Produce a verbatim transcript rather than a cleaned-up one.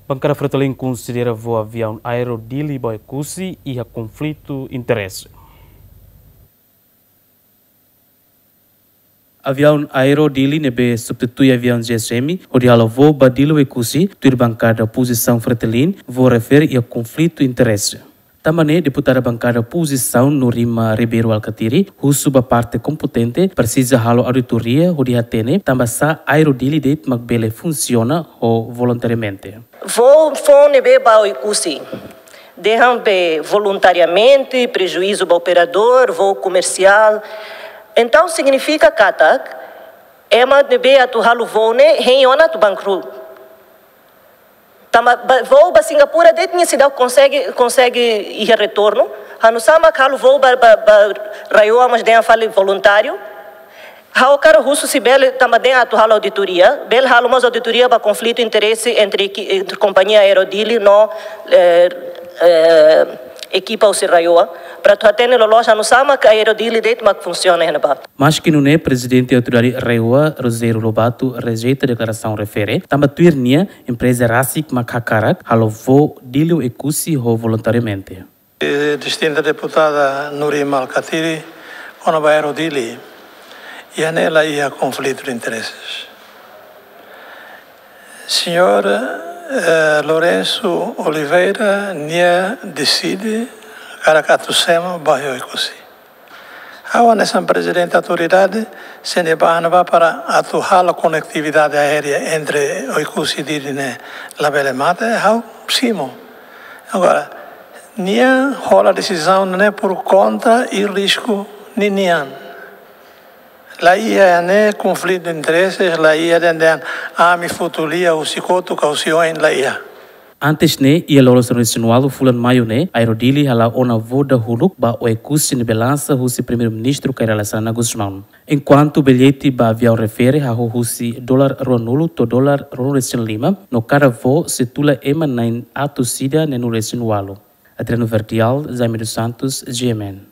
Bankada Fretilin konsidera voo aviaun Aero Dili ba Oekusi iha konflitu interese. Aviaun Aero Dili ne'ebé substitui aviaun G S M hodi halo voo ba Dili Oekusi, tuir bankada opozisaun Fretilin, voo refere iha konflitu interese. Tanba ne'e, deputada bankada opozisaun Nurima Ribeiro Alkatiri husu ba parte kompetente presiza halo auditoria hodi hatene tanbasá Aero Dili de'it mak bele funsiona ho voluntariamente. Voo foun ne'ebé ba Oekusi, dehan be voluntariamente, prejuízu ba operadór, voo komersiál. Entaun signifika katak ema ne'ebé atu halo voo ne'e hein ona atu bankrut. Tanba ba, voo ba Singapura de'it nia seidauk konsege, konsege iha retornu. Hanusá mak halo voo ba, ba, ba RAEOA mós dehan fali voluntáriu. Ha'u hakarak husu se bele, tanba dehan atu halo auditoria, bele halo mós auditoria ba konflitu interese entre eki-, entre kompañia Aero Dili no, eh, eh, ekipa husi RAEOA, para atu hatene loloos hanusá mak Aero Dili de'it mak funsiona iha ne'ebá. Maski nune'e, prezidente autoridade RAEOA, Rogério Lobato, rejeita deklarasaun refere, tanba tuir nia, empreza rasik mak hakarak halo voo Dili Oekusi ho voluntariamente. Eh, distinta deputada Nurima Alkatiri, kona-ba Aero Dili, iha ne'e la iha konflitu de intereses. Señór, eh, Lourenço Oliveira, nia deside karik atu semo ba Oekusi. Ha'u hanesan prezidente autoridade, sei ba ne'ebá para atu halo konetividade aérea entre Oekusi Dili ne'e labele mate, ha'u simu. Agora, nia hola desizaun ne'e por konta i risku ninian. La iha ne'e konflitu de intereses, la iha dehan ami futu lia husi kotuk ka husi oin, la iha. Antes ne'e, iha loron sanulu-resin-ualu fulan Maiu ne'e, Aero Dili hala'o ona voo dahuluk ba Oekusi ne'ebé lansa husi Primeiru-Ministru Kay Rala Xanana Gusmão. Enkuantu billete ba aviaun refere hahú husi dolar ruanulu to'o dolar ruanulu-resin-lima, no kada voo sei tula ema na'in atus ida neenulu-resin-ualu. Adriano Verdial, Jaime dos Santos, G M N.